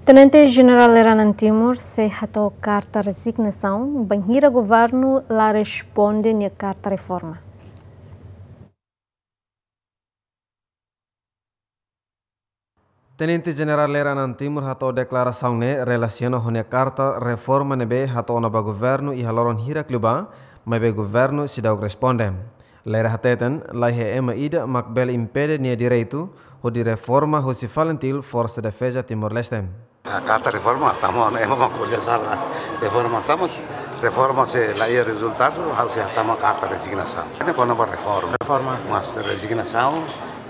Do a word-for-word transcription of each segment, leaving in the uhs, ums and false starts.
Tenente Jenerál Lere Anan Timur sei hato'o karta rezignasaun, bainhira governu la responde nia karta reforma. Tenente Jenerál Lere Anan Timur hato'o deklarasaun ne'e relasiona ho nia karta reforma ne'ebé hato'o ona ba governu iha loron hirak liubá, maibé governu seidauk responde. Lere hateten, laiha ema ida mak bele impede nia direitu hodi reforma husi FALINTIL, Forsa Defeza Timor-Leste. A karta reforma tama, ema mak ko'alia sala. Reforma tama, reforma se la iha rezultadu, ha'u sei hatama karta rezignasaun. Ne'e kona-ba reforma. Reforma. Mas rezignasaun,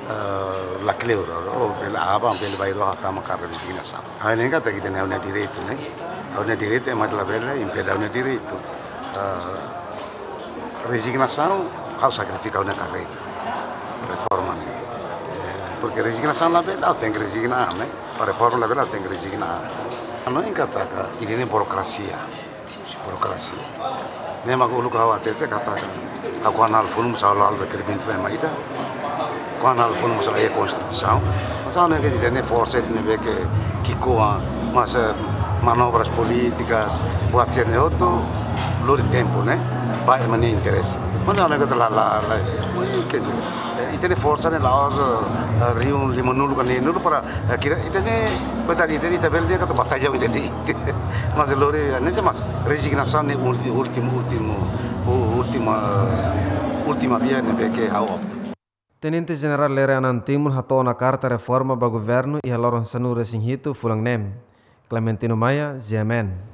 eh, la kleur, o bele aban, bele bainrua hatama karta rezignasaun. Ha'u hanoin katak ita-nia, ha'u-nia direitu, ne'e. Ha'u-nia direitu, ema labele impede ha'u-nia direitu. Eh, rezignasaun, ha'u sakrifika ha'u-nia karreira. Reforma ne'e. Eh, porke rezignasaun labele, ha'u tenke rezigna, ne'e. Para reforma labele, ha'u tenke rezigna. Hanoin katak ida-ne'e burokrasia. Burokrasia. Ne'e mak uluk ha'u hatete katak, ha'u kuandu halo funu mós ha'u la halo rekerimentu ba ema ida. Kuandu halo funu mós la iha konstituisaun. Mas ha'u hanoin katak ida-ne'e forsa ida ne'ebé ke ki'ikoan, mas, eh, manobras polítikas, buat sira-ne'e hotu, lori tempu, ne'e. Ba ema nia interese. Mas ha'u hanoin katak la, la, la, ui, quer dizer, eh, ita-nia forsa ne'e la'ós, eh, rihun limanulu ka neenulu para, eh, kira, ita-nia, buat tadi, ita-nia, ita bele dehan katak batalha ida-ne'e. Mas lori, eh, ne'e mas rezignasaun ne'e ulti-, últimu, últimu, u-, última, última via ne'ebé ke ha'u opta. Tenente Jenerál Lere Anan Timur hato'o ona karta reforma ba governu iha loron sanulu-resin-hitu fulan ne'e. Clementino Maia, G M N.